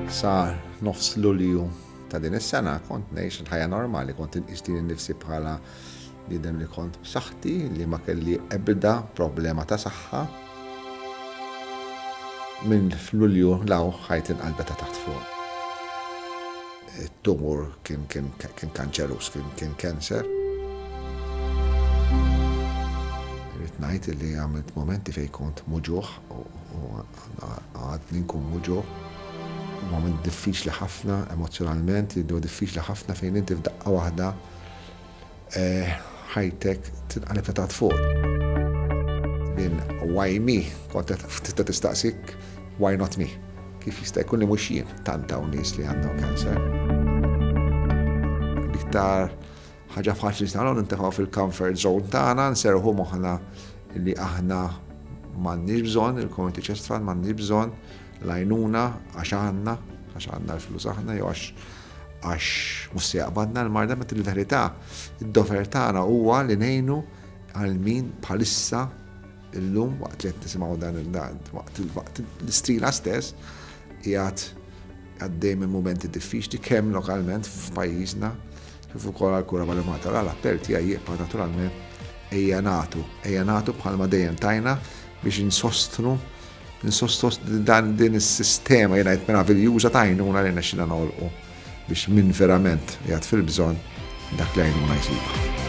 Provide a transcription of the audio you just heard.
Sa nofs Lulju ta' din is-sena kont ngħix il-ħajja normali, kont inqis lili nnifsi bħala bniedem li kont b'saħħti, li ma kelli ebda problema ta' saħħa. Minn f'Lulju 'l hawn ħajti nqalbet ta' taħt fuq. It-tumur kien kien kien kanċeruż, kien kien cancer. Irrid ngħid li għamilt mumenti fejn kont muġugħ u għadni nkun muġugħ. Moment diffiċli ħafna emozzjonalment, huwa diffiċli ħafna fejn inti f'daqqa waħda ħajtek tinqaleb ta' taħt fuq. Minn why me, kont tista' tistaqsik why not me? Kif jista' jkun li mhux jien tant hawn nies li għandhom cancer. L-iktar ħaġa faċli nistgħu nintefgħu fil-comfort zone tagħna, nserħu moħħna li aħna m'għandniex bżonn il-Community Chest Fund, m'għandniex bżonn l-għajnuna għax għandna, għax għandna l-flus aħna jew għax għax mhux se jaqbadna l-marda, meta il-verità, id-dover tagħna huwa li ngħinu għal min bħalissa illum waqt li qed nisimgħu dan il-dan waqt l-istrina stess qiegħed għaddej minn mumenti diffiċli kemm lokalment f'pajjiżna kif ukoll għal kura mal-Malta. L-appell tiegħi jibqa' naturalment ejja nagħtu, ejja nagħtu bħalma dejjem tajna biex insostnu insostnu dan din is-sistema jiena qed meraviljuża ta' għajnuna li nexxina noħolqu biex min verament qiegħed fil-bżonn dak li għajnuna jsibha.